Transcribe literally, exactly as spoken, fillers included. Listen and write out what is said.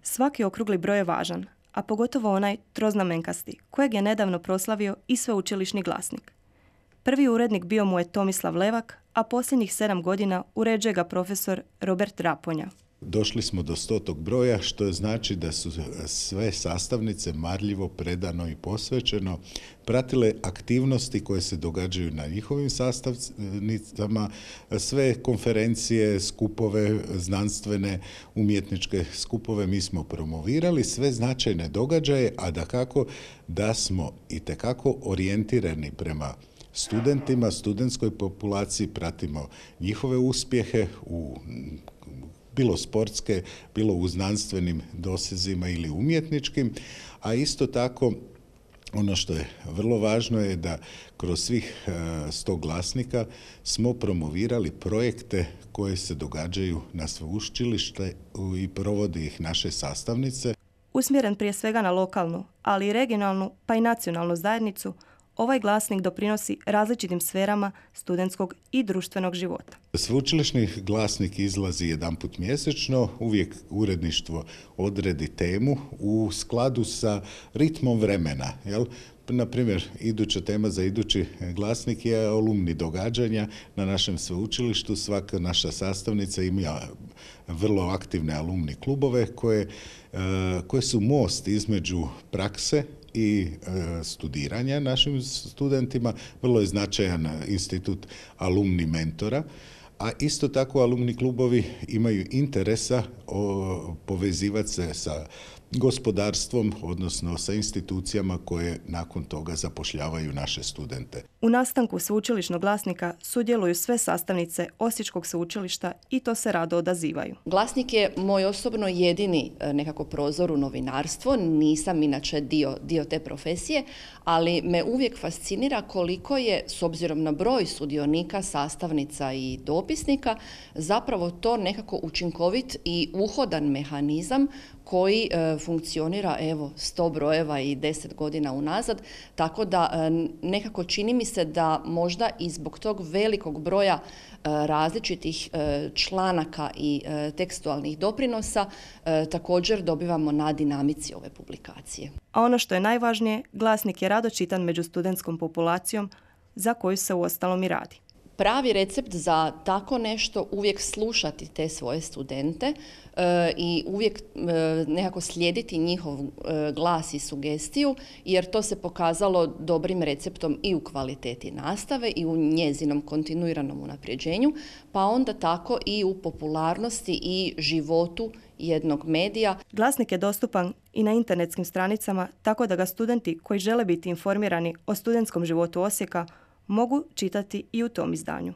Svaki okrugli broj je važan, a pogotovo onaj troznamenkasti, kojeg je nedavno proslavio i sveučilišni glasnik. Prvi urednik bio mu je Tomislav Levak, a posljednjih sedam godina uređuje ga profesor Robert Raponja. Došli smo do stotog broja, što znači da su sve sastavnice marljivo, predano i posvećeno pratile aktivnosti koje se događaju na njihovim sastavnicama, sve konferencije, skupove, znanstvene, umjetničke skupove mi smo promovirali, sve značajne događaje, a dakako da smo itekako orijentirani prema studentima, studentskoj populaciji, pratimo njihove uspjehe u bilo sportske, bilo u znanstvenim dosezima ili umjetničkim, a isto tako ono što je vrlo važno je da kroz svih sto glasnika smo promovirali projekte koje se događaju na sveučilište i provodi ih naše sastavnice. Usmjeren prije svega na lokalnu, ali i regionalnu pa i nacionalnu zajednicu, ovaj glasnik doprinosi različitim sferama studentskog i društvenog života. Sveučilišni glasnik izlazi jedanput mjesečno, uvijek uredništvo odredi temu u skladu sa ritmom vremena. Jel? Na primjer, iduća tema za idući glasnik je alumni događanja na našem sveučilištu. Svaka naša sastavnica ima vrlo aktivne alumni klubove koje, koje su most između prakse i e, studiranja našim studentima. Vrlo je značajan institut alumni mentora, a isto tako alumni klubovi imaju interesa o, povezivati se sa gospodarstvom, odnosno sa institucijama koje nakon toga zapošljavaju naše studente. U nastanku sveučilišnog glasnika sudjeluju sve sastavnice Osječkog sveučilišta i to se rado odazivaju. Glasnik je moj osobno jedini nekako prozor u novinarstvo, nisam inače dio, dio te profesije, ali me uvijek fascinira koliko je, s obzirom na broj sudionika, sastavnica i dopisnika, zapravo to nekako učinkovit i uhodan mehanizam koji e, funkcionira evo sto brojeva i deset godina unazad, tako da e, nekako čini mi se da možda i zbog tog velikog broja e, različitih e, članaka i e, tekstualnih doprinosa e, također dobivamo na dinamici ove publikacije. A ono što je najvažnije, glasnik je rado čitan među studentskom populacijom za koju se uostalom i radi. Pravi recept za tako nešto uvijek slušati te svoje studente e, i uvijek e, nekako slijediti njihov e, glas i sugestiju, jer to se pokazalo dobrim receptom i u kvaliteti nastave i u njezinom kontinuiranom unapređenju, pa onda tako i u popularnosti i životu jednog medija. Glasnik je dostupan i na internetskim stranicama, tako da ga studenti koji žele biti informirani o studentskom životu Osijeka mogu čitati i u tom izdanju.